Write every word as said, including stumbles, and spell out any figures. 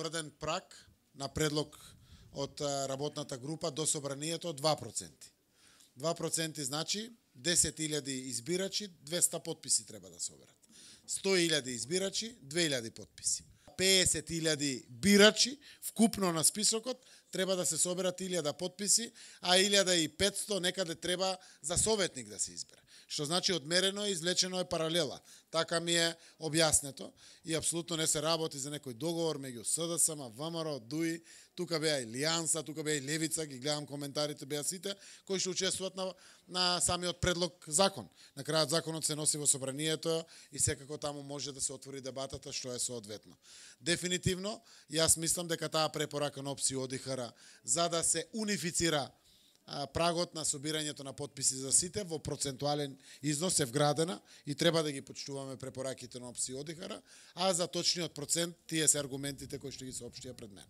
утврден праг на предлог од работната група до собранието два проценти. два проценти значи десет илјади избирачи, двеста потписи треба да соберат. сто илјади избирачи, две илјади потписи. песет илјади бирачи вкупно на списокот треба да се соберат илјада потписи, а илјада и петсто некаде треба за советник да се избере. Што значи одмерено и извлечено е паралела. Така ми е објаснето и апсолутно не се работи за некој договор меѓу СДСМ, ВМРО, ДУИ, тука беа и Лијанса, тука беа и Левица, ги гледам коментарите, беа сите кои што учествуваат на, на самиот предлог закон. На крајот законот се носи во собранието и секако таму може да се отвори дебатата што е соодветно. Дефинитивно, јас мислам дека таа препорака на опција ОДИХР за да се унифицира прагот на собирањето на потписи за сите во процентуален износ е вградена и треба да ги почитуваме препораките на опција ОДИХР, а за точниот процент тие се аргументите кои што ги соопштија пред мене.